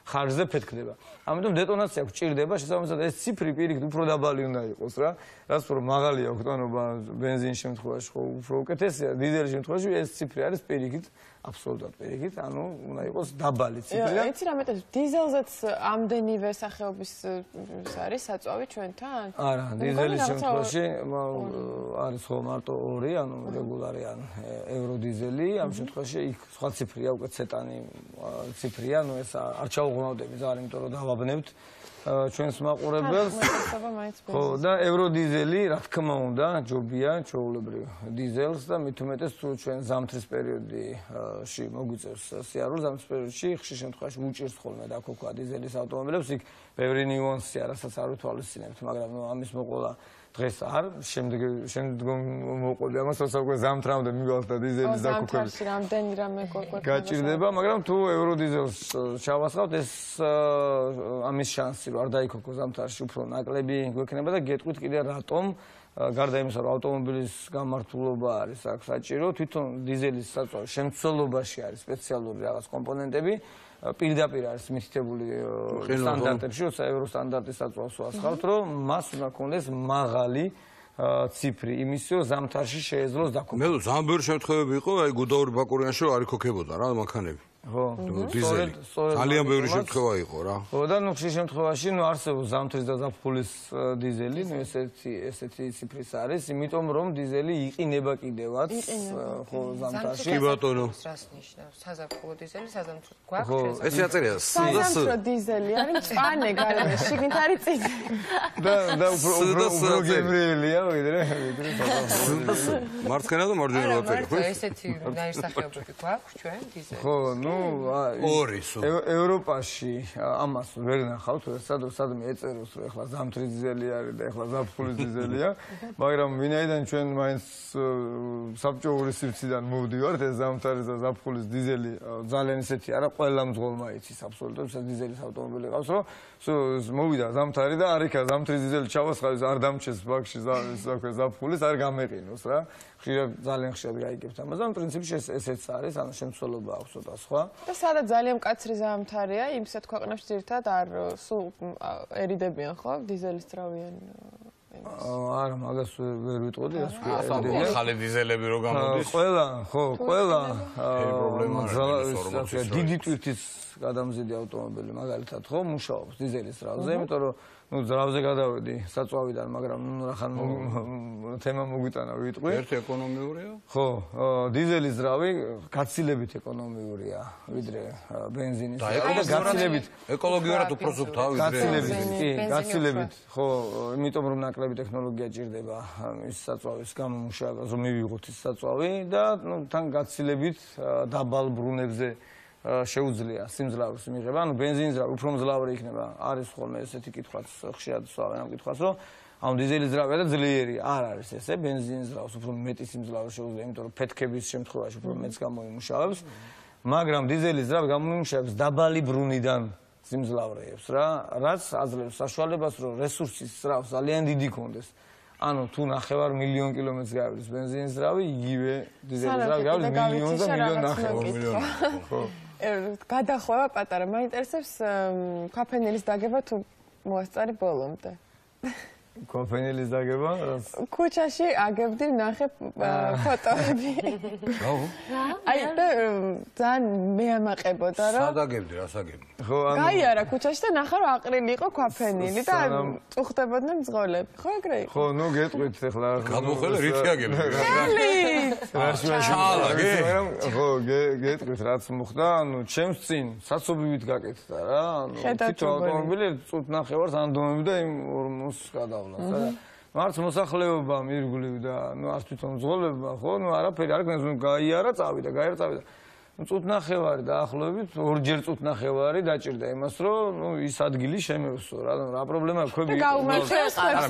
[SPEAKER 4] ხარჯზე ფეთქდება. ამიტომ დეტონაცია გვჭირდება, შესაბამისად ეს ციფრი პირიქით უფრო დაბალი უნდა იყოს რა. რაც უფრო მაღალია ოქტანობა ბენზინის შემთხვევაში, ხო უფრო უკეთესია, დიზელის შემთხვევაში ეს ციფრი არის პირიქით, აბსოლუტურად პირიქით, ანუ უნდა იყოს დაბალი ციფრი.
[SPEAKER 2] იცი რა მეტყვი, დიზელზეც ამდენივე სახეობის არის საწვავი ჩვენთან?
[SPEAKER 4] არა, დიზელის შემთხვევაში არის ხო მარტო ორი, ანუ რეგულარი ან ევროდიზელი, ამ შემთხვევაში იქ სხვა ციფრია, უკვე ცეტანი ციფრია, ანუ ეს არ ჩაუღრმავდები ძალიან, იმიტომ რომ დავაბნევთ ჩვენს მაყურებელს. ხო, და ევროდიზელი, რა თქმა უნდა, ჯობია ჩვეულებრივ დიზელს და მით უმეტეს თუ ჩვენ ზამთრის პერიოდში მოგვიწევს სიარული, ზამთრის პერიოდში ხშირ შემთხვევაში უჭირს ხოლმე დაქოქვა დიზელის ავტომობილებს, იქ ბევრი ნიუანსია, რასაც არ ვითვალისწინებთ, მაგრამ ნუ ამის მოყოლა დღეს არ, შემდეგ შემდგომ მოყოლი ამასაც უკვე ზამთრამდე მივალთ და დიზელის დაქოქვები.
[SPEAKER 2] ზამთარში რამდენი რამე
[SPEAKER 4] გაჭირდება, მაგრამ თუ ევროდიზელს ჩავასხავთ, ეს ამის შანსი რომ არ დაიქოქო ზამთარში უფრო ნაკლები გვექნება და გეტყვით კიდე რატომ გარდა იმისა რომ ავტომობილის გამართულობა არის აქ საჭირო, თვითონ დიზელის საწვავის შემცველობაში არის სპეციალური რაღაც კომპონენტები პირდაპირ არის მითითებული სტანდარტებში, როცა ევროსტანდარტის საწვავს ვასხავთ, რომ მას უნდა ქონდეს მაღალი ციფრი, იმის რომ ზამთარში შეეძლოს დაქოქვა.
[SPEAKER 1] მე ძალიან ბევრი შემთხვევები იყო, აი გუდაური ბაკურიანში რომ არ იქოქებოდა რა მანქანები.
[SPEAKER 4] ხო,
[SPEAKER 1] დიზელი. ძალიან ბევრი შემთხვევა იყო რა.
[SPEAKER 4] ხო, და ნუ ხშირ შემთხვევაში ნუ არსებობს ზამთრის და ზაფხულის დიზელი, ნუ ესეთი ესეთი ციფრის არის, იმიტომ რომ დიზელი იყინება კიდევაც, ხო, ზამთარში.
[SPEAKER 1] კი ბატონო.
[SPEAKER 3] რას ნიშნავს? საზაფხულო დიზელი, საზამთრო გვაქვს?
[SPEAKER 1] ეს აწერია სს.
[SPEAKER 2] საზამთრო დიზელი არის მწვანე გარემო, შიგნით არის წითელი.
[SPEAKER 4] და და უფრო უფრო გემრიელია, ვიდრე ვიდრე
[SPEAKER 1] საზამთრო. მარცხენა და მარჯვენა აწერია, ხო?
[SPEAKER 3] ესეთი ნაირსახეობები გვაქვს ჩვენ დიზელი.
[SPEAKER 4] ხო, ნუ
[SPEAKER 1] ორი სულ
[SPEAKER 4] ევროპაში ამას ვერ ნახავთ, სადაც სადმე ეწეროს რომ ეხლა ზამთრის დიზელი არის და ეხლა ზაფხულის დიზელია, მაგრამ ვინაიდან ჩვენ მაინც საბჭოური სივრციდან მოვდივართ, ეს ზამთრის და ზაფხულის დიზელი ძალიან ისეთი არა, ყველა მძღოლმა იცის აბსოლუტურად, ეს დიზელის ავტომობილი ყავს, რომ მოვიდა ზამთარი და არ იქა ზამთრის დიზელი ჩავასხავის, არ დამჩეს ბაქში ზაფხულის, არ გამეყინოს რა. ხშირად ძალიან ხშირად გაიგებთ ამას, ამ პრინციპში ესეც არის, ანუ შემცველობა აქვს ცოტა სხვა.
[SPEAKER 2] და სადაც ძალიან მკაცრი ზამთარია, იმსეთ ქვეყნებში ძირითადად არ სულ ერიდებიან ხო დიზელის ძრავიან
[SPEAKER 4] არა, მაგას ვერ ვიტყოდი, რას
[SPEAKER 1] ვიტყოდი. ახალი დიზელები რო გამოდის.
[SPEAKER 4] ყველა, ხო, ყველა დიდი ტვირთის გადამზიდი ავტომობილი მაგალითად ხო მუშაობს დიზელის ძრავზე, იმიტომ რომ ნუ ძრავზე გადავედი საწვავიდან, მაგრამ ნუ რახან თემა მოგვიტანა ვიტყვი.
[SPEAKER 1] ერთი ეკონომიურია?
[SPEAKER 4] ხო, დიზელის ძრავი გაცილებით ეკონომიურია, ვიდრე ბენზინის.
[SPEAKER 1] და გაცილებით
[SPEAKER 4] ეკოლოგიურად
[SPEAKER 1] უფრო სუფთა, ვიდრე
[SPEAKER 4] გაცილებით, კი, გაცილებით. ხო, იმიტომ რომ ნაკლები ტექნოლოგია ჭირდება ის საწვავის გამომუშავებას, რომ მივიღოთ ის საწვავი და ნუ თან გაცილებით დაბალ ბრუნებზე შეუძლია სიმძლავრეს მიღება. ანუ ბენზინის ძრავი უფრო მძლავრი იქნება. არის ხოლმე ესეთი კითხვაც ხშირად სვავენ ამ კითხვას, რომ ანუ დიზელის ძრავია და ძლიერი არ არის ესე. ბენზინის ძრავს უფრო მეტი სიმძლავრე შეუძლია, იმიტომ რომ ფეთქების შემთხვევაში უფრო მეტს გამოიმუშავებს. მაგრამ დიზელის ძრავი გამოიმუშავებს დაბალი ბრუნიდან სიმძლავრეებს რა, რაც აძლევს საშუალებას, რომ რესურსის ძრავს ძალიან დიდი კონდეს. ანუ თუ ნახევარ მილიონ კილომეტრს გავლის ბენზინის ძრავი, იგივე დიზელის ძრავი გავლის მილიონ და მილიონ ნახევარ.
[SPEAKER 2] ხო. გადახვევა პატარა, მაინტერესებს ქვაფენილის დაგება თუ მოასწარი ბოლომდე.
[SPEAKER 4] ქვაფენილის დაგება?
[SPEAKER 2] ქუჩაში აგებდი, ნახე ფოტოები.
[SPEAKER 1] აუ.
[SPEAKER 2] აი და ძალიან მეამაყებოდა რომ
[SPEAKER 1] სად აგებდი, რას აგებდი?
[SPEAKER 4] ხო, ანუ
[SPEAKER 2] გაიარა ქუჩაში და ნახე რომ აყრილი იყო ქვაფენილი და წუხდებოდნენ მძღოლები. ხო ეგრე იყო?
[SPEAKER 4] ხო, ნუ გეტყვით ახლა.
[SPEAKER 1] გადმოხვალე რითი აგებდი?
[SPEAKER 2] ხელი.
[SPEAKER 1] ჩალაგე.
[SPEAKER 4] ხო, გეტყვით რაც მოხდა, ანუ ჩემს წინ საცობივით გაკეთდა რა, ანუ თვითონ ავტომობილი წუთ ნახევარს ანდომები და იმ ორმოს გადავ მარც მოსახლეობა მირგვლივდა, ნუ არც თვითონ მძღოლებმა, ხო, ნუ არაფერი არ გქონდეს, ნუ გაიარა, წავიდა, გაიარა, წავიდა. ნუ წუთნახევარი დაახლოებით, ორჯერ წუთნახევარი დაჭირდა იმას, რომ ნუ ის ადგილი შემევსო რა, რა პრობლემაა, ქვები.
[SPEAKER 2] და გაუმართლეს ხებს.
[SPEAKER 1] არა,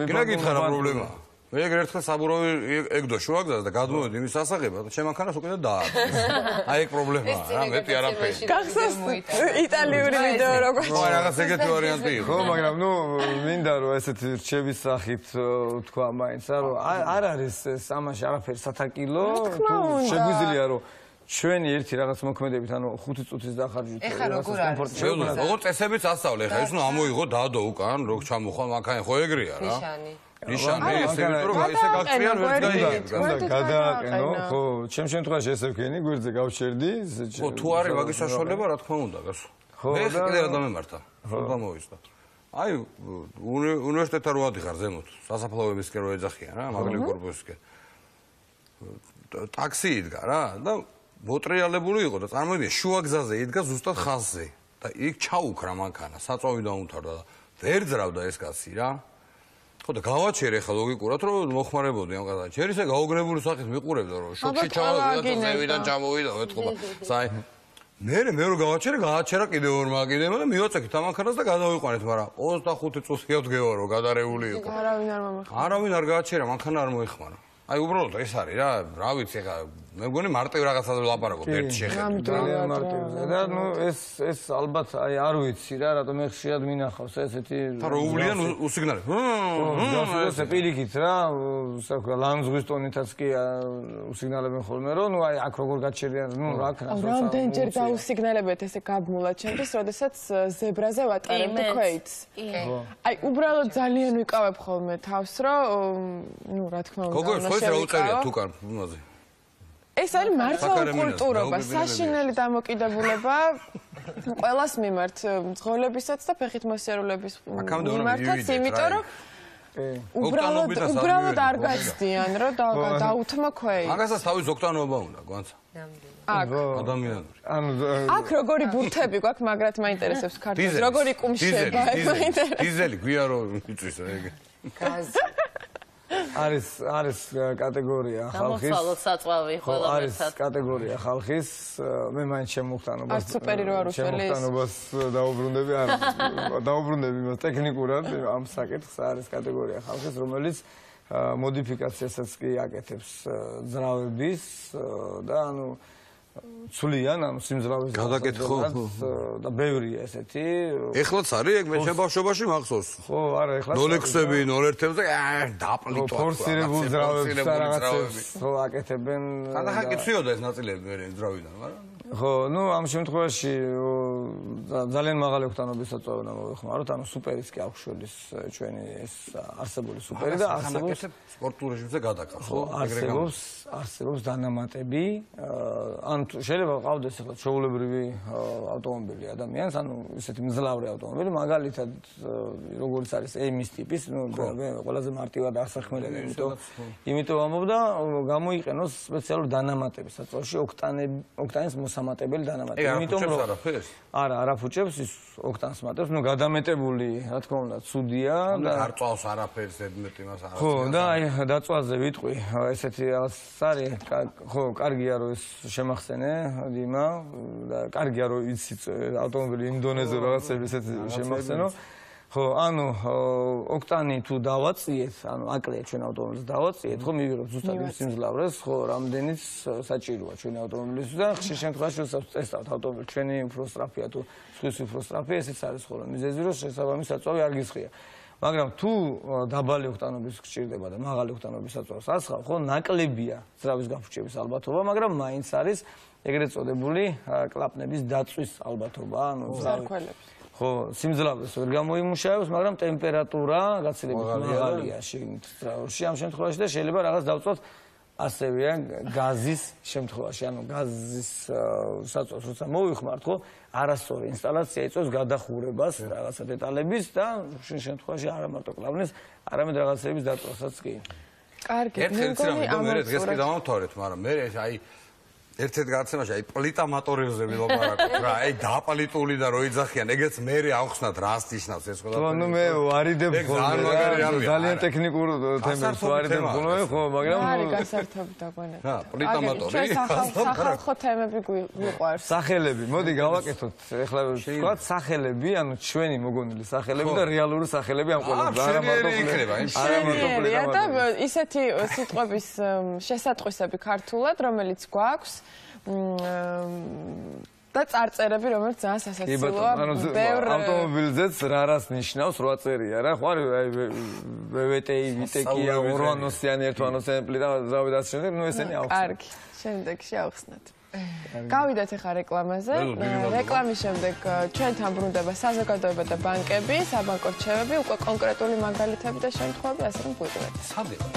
[SPEAKER 1] მე გეკითხა რა პრობლემაა. მე ეგ ერთხელ საბურავი ეგდო შუაგზას და გადმოვედი იმის სასაღებად და შემანქანას უკვე და დაარქვეს. აი ეგ პრობლემაა რა, მეტი არაფერი.
[SPEAKER 2] გახსოვს იტალიური ვიდეო როგორ?
[SPEAKER 1] ხო, რაღაც ეგეთი ვარიანტი იყო.
[SPEAKER 4] ხო, მაგრამ ნუ მინდა რომ ესეთი რჩევის სახით თქვა მაინც, რომ არ არის ეს ამაში არაფერი სათაკილო, თუ შეგვიძლია რომ ჩვენი ერთი რაღაც მოქმედებით, ანუ ხუთი წუთის დახარჯვით
[SPEAKER 3] ეხა როგორ არის?
[SPEAKER 1] შეუძლია, როგორ წესებიც ასწავლე, ეხა ის ნუ ამოიღო დაადო უკან, რო ჩამოხვალ მანქანა, ხო ეგრეა რა.
[SPEAKER 3] ნიშანი.
[SPEAKER 1] ნიშანი ესე რომ ისე გაქციან ვერ გაიგებ.
[SPEAKER 4] გადააყენო, ხო, ჩემ შემთხვევაში ესე ვქენი, გვერდზე გავჩერდი.
[SPEAKER 1] ხო, თუ არის მაგის საშუალება, რა თქმა უნდა, გასო.
[SPEAKER 4] ხო,
[SPEAKER 1] მე კიდევ დამემართა. ხო, გამოვისდა. აი, უნივერსიტეტთან რო ადიხარ ზემოთ, სასაფლაოებისკენ რო ეძახიან რა, მაგალი კორპუსისკენ. ტაქსი იდგა რა და მოტრიალებული იყო და წარმოიდგინე, შუაგზაზე იდგა ზუსტად ხაზზე და იქ ჩაუქრა მანქანა, საწვავი დაუმთავრდა და ვერ ძრავდა ეს კაცი რა. ხო და გავაჩერე ხა ლოგიკურად რომ მოხმარებოდი ამ კაცს. ჯერ ისე გაუგნებული სახით მიყურებდა რომ შოქში ჩავიდა, ზევიდან ჩამოვიდა, ეთქობა. საი მე მე რო გავაჩერე, გააჩერა კიდევ ორ მაგინებმა და მივაწექით ამ მანქანას და გადავიყვანეთ, მაგრამ ოცდახუთი წუთია ვდგევა რომ გადარეული იყო.
[SPEAKER 2] არავინ არ მომეხმარა.
[SPEAKER 1] არავინ არ გააჩერა, მანქანა არ მოეხმარა. აი უბრალოდ ეს არის რა, რა ვიცი ხა მე მგონი მარტივ რაღაცაზე ვლაპარაკობ ერთ შეხედვით.
[SPEAKER 4] ძალიან მარტივია და ნუ ეს ეს ალბათ აი არ ვიცი რა, რატომ მე ხშირად მინახავს ესეთი
[SPEAKER 1] რა უვლიან უსიგნალები.
[SPEAKER 4] ხო, ესე პირიქით რა, საქმე ლანძღვის ტონითაც კი უსიგნალებენ ხოლმე რომ ნუ აი აქ როგორ გაჩერიან, ნუ რა ქნას
[SPEAKER 2] როცა რამდენჯერ დაუსიგნალებეთ ესე გაბმულა ჩემთვის, როდესაც ზებრაზე ვატარებდი ქვეითს. აი უბრალოდ ძალიან ვიკავებ ხოლმე თავს, რომ ნუ რა თქმა უნდა
[SPEAKER 1] გოგო, ხო რა უწერია თუკან ბუნაზე.
[SPEAKER 2] ეს არის მართლა კულტურობა, საშინელი დამოკიდებულება ყველას მიმართ, მძღოლებისაც და ფეხით მოსიარულეების მიმართაც, იმიტომ რომ უბრალოდ უბრალოდ არ გაცდიან, რომ დაუთმო ქვეითს.
[SPEAKER 1] მაგასაც თავის ოქტანობა უნდა, გვანცა.
[SPEAKER 2] აქ
[SPEAKER 1] ადამიანური.
[SPEAKER 4] ანუ
[SPEAKER 2] აქ როგორი ბურთები გვაქვს, მაგრად მაინტერესებს ქართულს, როგორი კუმშება, მაინტერესებს.
[SPEAKER 1] დიზელი გვია რომ იწვის ეგ.
[SPEAKER 3] გაზი.
[SPEAKER 4] არის არის კატეგორია ხალხის.
[SPEAKER 11] გამოცვალოთ საწვავი ყველა ერთად.
[SPEAKER 4] არის კატეგორია ხალხის, მე მაინც შემოხტანობას.
[SPEAKER 2] არ სუპერი რო არ უშველის.
[SPEAKER 4] შემოხტანობას დაუბრუნდები, არ დაუბრუნდები მას ტექნიკურად ამ საკითხს არის კატეგორია ხალხის, რომელიც მოდიფიკაციასაც კი აკეთებს ძრავების და ანუ ცვლიან ამ სიმძლავრის
[SPEAKER 1] გადაკეთო
[SPEAKER 4] და ბევრია ესეთი.
[SPEAKER 1] ეხლაც არის ეგ მე შებავშვობაში მახსოვს.
[SPEAKER 4] ხო, არა, ეხლა
[SPEAKER 1] ნოლექსები, ნოლერთებზე დაპლიტო.
[SPEAKER 4] ფორსირებულ ძრავებს და რაღაცებს ხო აკეთებენ.
[SPEAKER 1] ხანდახან კი ცვიოდა ეს ნაწილები მე ძრავიდან, მაგრამ
[SPEAKER 4] ხო, ну, ამ შემთხვევაში ძალიან მაღალი ოქტანობის საწვავი უნდა მოვიხმაროთ, ანუ სუპერის კი აქვს შორის ჩვენი ეს არსებული სუპერი და არსებობს
[SPEAKER 1] სპორტულ რეჟიმზე გადაკარგავს, ხო?
[SPEAKER 4] არსებობს, არსებობს დანამატები, ან შეიძლება ყავდეს ახლა ჩვეულებრივი ავტომობილი ადამიანს, ანუ ისეთი მძლავრი ავტომობილი, მაგალითად როგორც არის ემის ტიპის, ну, ყველაზე მარტივად არსახმელები, იმიტომ იმიტომ ამბობ და გამოიყენოს სპეციალური დანამატები საწვავში ოქტანები, ოქტანის მოსამატებელი დანამატები.
[SPEAKER 1] იმიტომ რომ არაფერს?
[SPEAKER 4] არა, არაფუჭებს ის ოქტანს მატებს, ну, გადამეტებული, რა თქმა უნდა, ცუდია
[SPEAKER 1] და არ წავს არაფერს ზედმეტი მას არ.
[SPEAKER 4] ხო, და აი დაწვაზე ვიტყვი, ესეთი რაღაც არის, ხო, კარგია რომ ეს შემახსენე დიმა და კარგია რომ იცი ავტომობილი იმ დონეზე რაღაცები ესეთი შემახსენო. ხო, ანუ ოქტანი თუ დავაწიეთ, ანუ აკლია ჩვენ ავტომობილს დავაწიეთ, ხო, მივიღებთ ზუსტად იმ სიმძლავრეს, ხო, რამდენიც საჭიროა ჩვენი ავტომობილისთვის და ხშირ შემთხვევაში ვწესავთ ავტომობილი ჩვენი უფრო სწრაფია თუ სხვის უფრო სწრაფია, ესეც არის ხოლმე მიზეზი, რომ შესაბამის საწვავი არ გისხია. მაგრამ თუ დაბალი ოქტანობის გჭირდება და მაღალი ოქტანობის საწვავს ასხავ, ხო, ნაკლებია ძრავის გაფუჭების ალბათობა, მაგრამ მაინც არის ეგრეთ წოდებული კლაპნების დაწვის ალბათობა, ანუ
[SPEAKER 2] ზარქველების.
[SPEAKER 4] ხო, სიმძლავრეს ვერ გამოიმუშავებს, მაგრამ ტემპერატურა გაცილებით მაღალია შიგნით ძრავში ამ შემთხვევაში და შეიძლება რაღაც დავწვათ ასევეა გაზის შემთხვევაში, ანუ გაზის საწვავს როცა მოვიხმართ, ხო, არასწორი ინსტალაცია იწვევს გადახურებას რაღაცა დეტალების და შენ შემთხვევაში არა მარტო კლავნის, არამედ რაღაცების დაწვასაც კი.
[SPEAKER 2] კარგი,
[SPEAKER 1] ერთ-ერთი რამე და მე დღეს კი დავამთავრეთ, მაგრამ მე აი ერთ-ერთ გადაცემაში აი პლიტა მოტორებზე ვილაპარაკოთ რა, აი დაპლიტული და რო იძახიან, ეგეც მე ავხსნათ რას ნიშნავს ეს ყველაფერი.
[SPEAKER 4] ხო, ნუ მე ვარიდებ ხოლმე, ძალიან ტექნიკურ თემებს ვარიდებ ხოლმე, ხო, მაგრამ
[SPEAKER 2] არის გასართობი დაგვენებთ.
[SPEAKER 1] რა, პლიტა მოტორი.
[SPEAKER 2] სახალხო თემები გვიყვარს.
[SPEAKER 4] სახელები, მოდი გავაკეთოთ, ეხლა ვთქვათ სახელები, ანუ ჩვენი მოგონილი სახელები და რეალური სახელები ამ ყველაფერს.
[SPEAKER 1] არა მარტო იქნება,
[SPEAKER 4] არა მარტო
[SPEAKER 2] პლიტა და ისეთი სიტყვების შესატყვისები ქართულად, რომელიც გვაქვს და წარწერები, რომელიც ძალიან სასაცილოა.
[SPEAKER 4] ბევრ ავტომობილზეც რა რას ნიშნავს, რვა წერია რა, ხო არის აი ვეტეი, ვიტეკია, ორვანოსიანი, ერთვანოსიანი პლიტა, ზავი და ასე შემდეგ, ნუ ესენი აქვს.
[SPEAKER 2] კარგი, შემდეგში ავხსნათ. გავიდეთ ახლა რეკლამაზე. რეკლამის შემდეგ ჩვენთან ბრუნდება საზოგადოება და ბანკები, საბანკო რჩევები, უკვე კონკრეტული მაგალითები და შემთხვევები, ასე რომ გვიყვეთ.
[SPEAKER 1] სად იყო?